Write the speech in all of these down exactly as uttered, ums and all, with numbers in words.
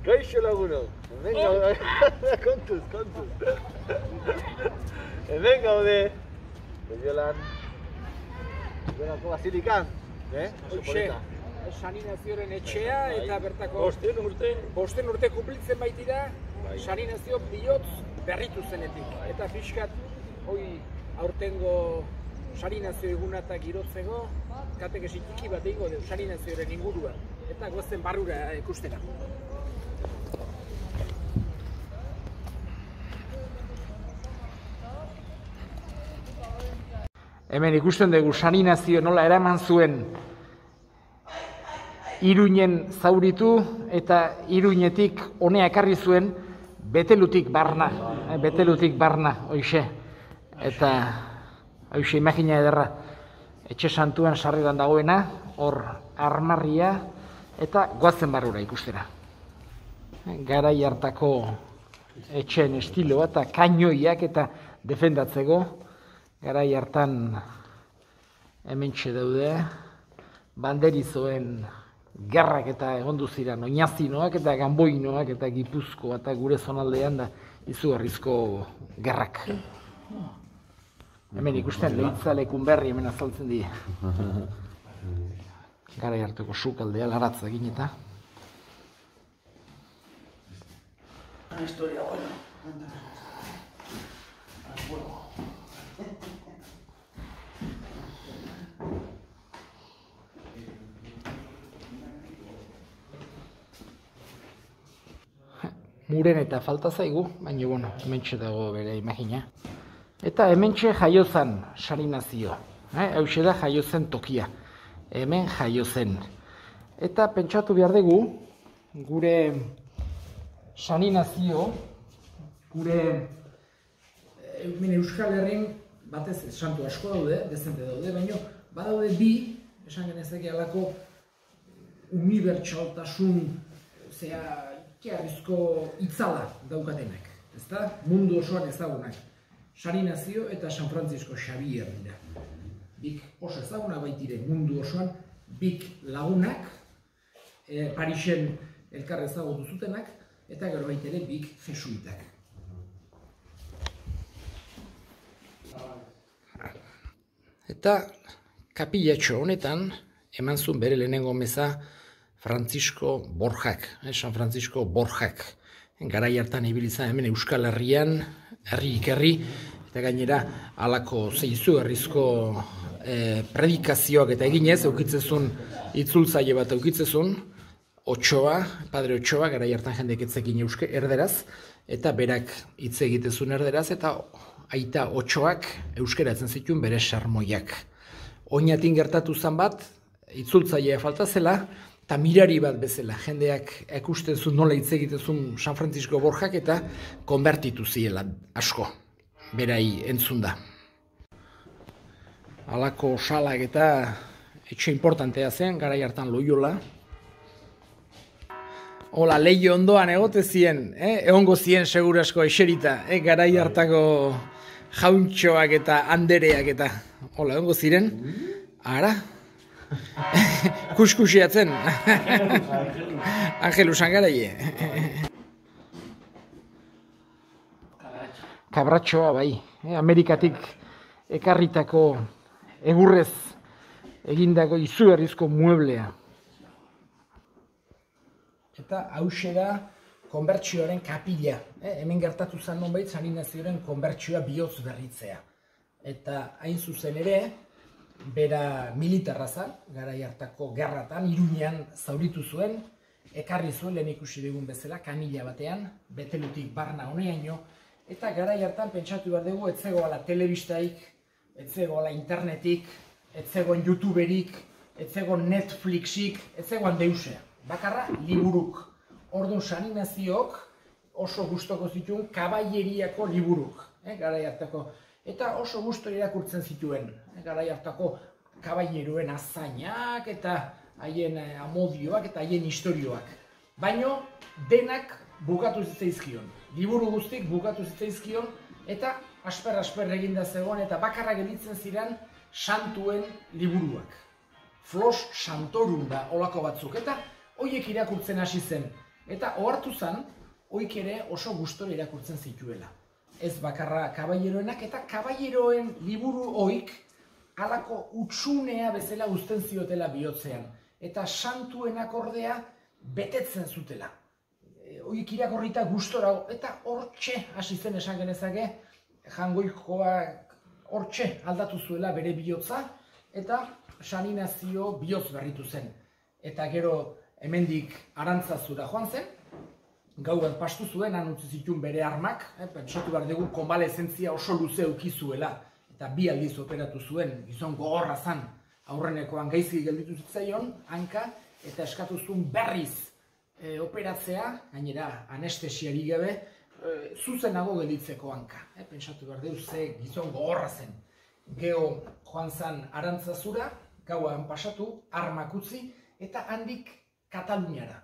Kaixo lagunok, hemen gaude, kontuz, kontuz. Hemen gaude, Loiolan, Loiolako basilikan, eh? Hoxe, Saninazioren etxea eta bertako... Bosten urte. Bosten urte kumplitzen baitira, Saninazio bihotz berritu zenetik. Eta pixkat, hoi aurtengo Saninazio egunata girotzeko, katekesi txiki bat egingo du Saninazioren inguruan. Eta goazen barrura ikustera. Hemen ikusten dugu Saninazio nola eraman zuen Iruinen zauritu eta Iruinetik honea ekarri zuen Betelutik barna, Betelutik barna, hoixe. Eta hoixe imagina ederra, etxe santuan sarreran dagoena, hor armarria eta goazen barrura ikustera. Garai hartako etxeen estiloa eta kainoiak eta defendatzeko, garai hartan hementxe daude, banderizoen gerrak eta egondu ziren oinazinoak eta ganboinoak eta Gipuzkoa eta gure zonaldean da izugarrizko gerrak. Hemen ikusten Leitzalekun berri hemen azaltzen die. Garai hartuko sukaldea laratza egin eta. Historia buena. Muren eta falta zaigu, baina bueno, hementxe dago bere imagina. Eta hementxe jaio zen Saninazio, eh? Hauxe da jaio zen tokia, hemen jaio zen. Eta pentsatu behar dugu, gure Saninazio, gure hemen Euskal Herrin, batez santu asko daude, dezente daude, baina badaude bi, esan genezake halako unibertsaltasun, zera, Arrizko itzala daukatenak, ezta? Mundu osoan ezagunak. Saninazio eta San Francisco Xavier dira. Bik oso ezagunak baitire mundu osoan, bik lagunak, e, Parisen elkar ezagutu zutenak, eta gero baitere bik jesuitak. Eta kapillatxo honetan, eman zuen bere lehenengo meza Francisco Borjak, eh, San Francisco Borjak. Garai hartan ibilizan hemen Euskal Herrian, herrik herri, eta gainera halako zeizu herrizko eh, predikazioak eta eginez, eukitzezun itzultzaile bat eukitzezun, Otxoa, Padre Otxoa, garai hartan jendek etzekin euske erderaz, eta berak hitz egitezun erderaz, eta aita Otxoak euskeratzen zituen bere sarmoiak. Oinatin gertatu zen bat, itzultzailea falta zela, eta mirari bat bezala, jendeak ikusten zuen nola hitz egitezun San Francisco Borjak eta konbertitu ziela asko, berai entzunda. Halako salak eta etxe importantea zen, garai hartan Loiola. Hola, leio ondoan egote zien, eh? Egongo zien segurasko eserita, eh? Garai hartako jauntxoak eta andereak eta, hola, egongo ziren, ara? Kuskusiatzen. Angelu Sangaraie. Kabratxoa bai, Amerikatik ekarritako egurrez egindako izugarrizko mueblea. Eta hauxe da konbertsioaren kapila. Hemen gertatu zen nonbait Saninazioaren konbertsioa bihotz berritzea. Eta hain zuzen ere, bera militarra zen, garai hartako gerratan, Iruinean zauritu zuen, ekarri zuen lehen ikusi dugun bezala, kanila batean, Betelutik barna honeaino, eta garai hartan pentsatu behar dugu, ez zegoela telebistaik, ez zegoela internetik, ez zegoen YouTuberik, ez zegoen Netflixik, ez zegoen deusea. Bakarra, liburuk. Orduan Saninaziok oso gustoko zituen kabaieriako liburuk, eh, garai hartako. Eta oso gusto irakurtzen zituen, garai hartako kabaieroen azainak eta haien amodioak eta haien istorioak. Baino denak bukatu zitzaizkion, liburu guztik bukatu zitzaizkion eta asper-asper eginda zegoen eta bakarra gelditzen ziren santuen liburuak. Flos Santorum da olako batzuk eta horiek irakurtzen hasi zen. Eta ohartu zen, oik ere oso gustora irakurtzen zituela. Ez bakarra kaballeroenak, eta kaballeroen liburu oik halako utxunea bezala uzten ziotela bihotzean. Eta santuenak ordea betetzen zutela. Oik irakorrita gustora, eta hortxe hasi zen esan genezake, Jangoikoak hortxe aldatu zuela bere bihotza, eta San Inazio bihotz berritu zen. Eta gero hemendik Arantzazura joan zen, gauan pastu zuen, han utzi zituen bere armak, eh, pentsatu behar dugu konbalezentzia oso luze ukizuela, eta bi aldiz operatu zuen, gizon gogorra zan, aurrenekoan gaizki gelditu zitzaion, hanka, eta eskatu zuen berriz e, operatzea, gainera anestesiari gabe, e, zuzenago gelditzeko hanka. Eh, pentsatu behar dugu ze gizon gogorra zen. Geo joan zan Arantzazura, gauan pasatu, armak utzi, eta handik Kataluniara.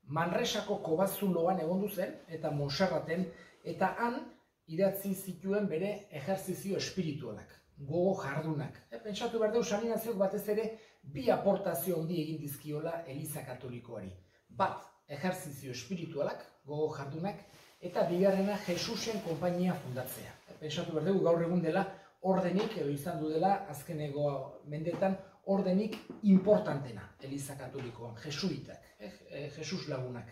Manresako Kobazuloan egondu zen, eta Montserraten, eta han idatzi zituen bere ejerzizio espiritualak, gogo jardunak. E, pentsatu behar dugu San Inaziok batez ere bi aportazio handi egin dizkiola Eliza Katolikoari. Bat, ejerzizio espiritualak, gogo jardunak, eta bigarrena Jesusen konpainia fundatzea. E, pentsatu behar dugu gaur egun dela ordenik, edo izan du dela azkeneko mendetan, ordenik importantena Eliza Katolikoan, jesuitak, eh, Jesus lagunak.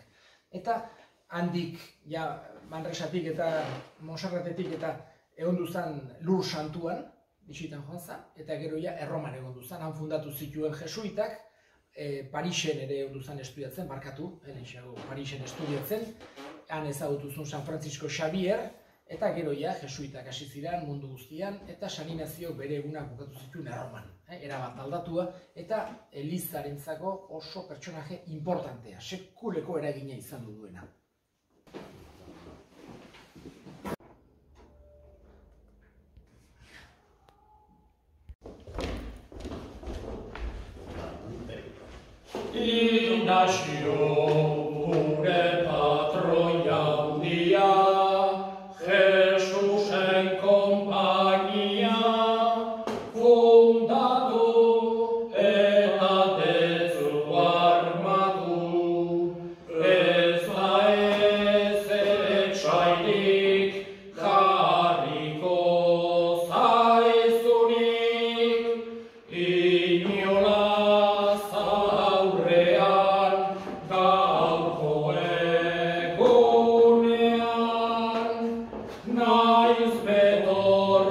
Eta handik, ja, Manresatik eta Montserratetik eta egondu zen Lur Santuan, bisitan joan zen, eta gero ja Erroman egondu zen, han fundatu zituen jesuitak, eh, Parisen ere egondu zen estudiatzen, barkatu, eh, Parisen estudiatzen, han ezagutu zuen San Francisco Xavier, eta gero ja, jesuitak hasi ziren mundu guztian, eta San Inaziok bere egunak bukatu zituen Erroman. Eh, erabat aldatua, eta Elizarentzako oso pertsonaje importantea, sekuleko eragina izan du duena. Ignacio, gure patroia handia, Jesusen konpainia, fundatu eta dezu armatu, ez da ez etxairik jarriko zaizunik, inolaz aurrean gaurko egunean, naiz betor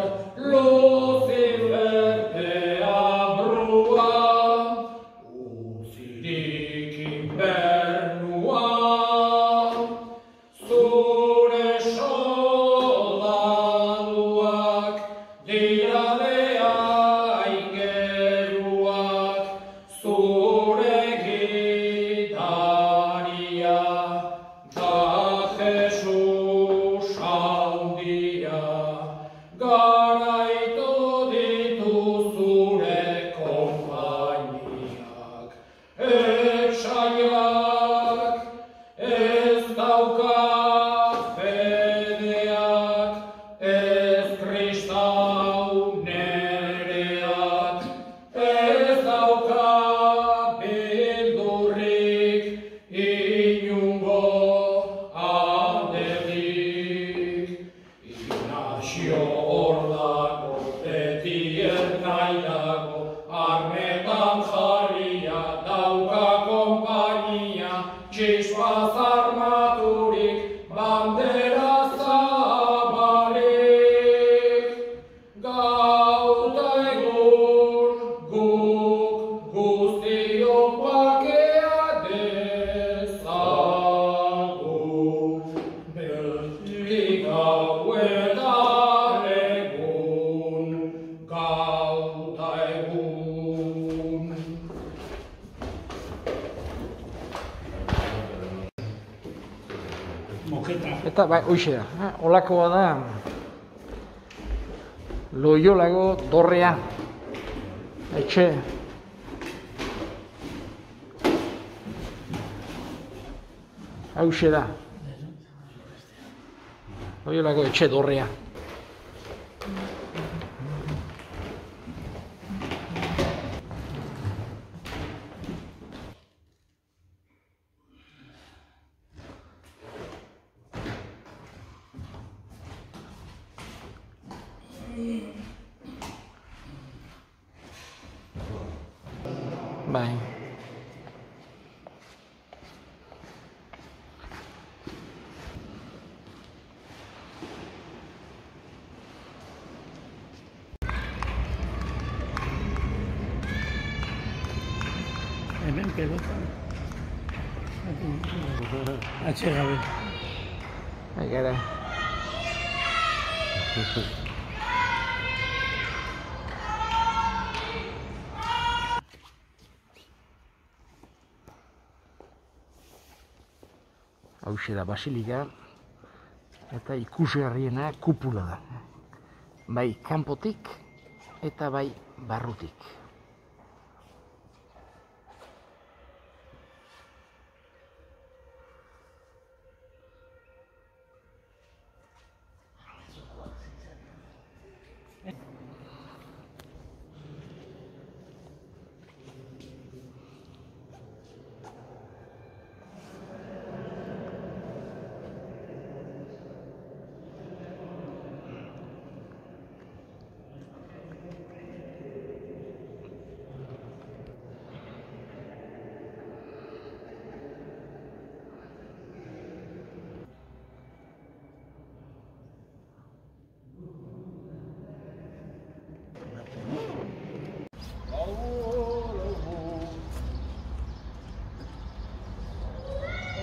Lucifer deabrua, uzirik inbernua, zure soldaduak dira aingeruak, zure gidaria da Jesus handia, garaitu ditu zure konpainiak, etsaiak ez dauka fedeak, ez kristau nereak, ez dauka beldurrik inungo alderik. Ignacio hor dago, beti ernaiago, armetan jarria dauka konpainia, txispaz armaturik, bandera zabalik. Gauta egun guk guztiok bakea dezagun, beti gauetan egun, gauta egun. Eta bai, hoxe da, eh? Olakoa da Loiolago dorrea, etxe. Hauxe da. Loiolago etxe dorrea. Bai. Hemen pelotan. Atxe gabe. Bai, gara. Hauxe da basilika eta ikusgarriena kupula da. Bai kanpotik eta bai barrutik.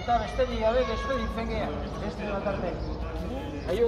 Eta besterik gabe despeditzen gea, beste bat arte. Aio!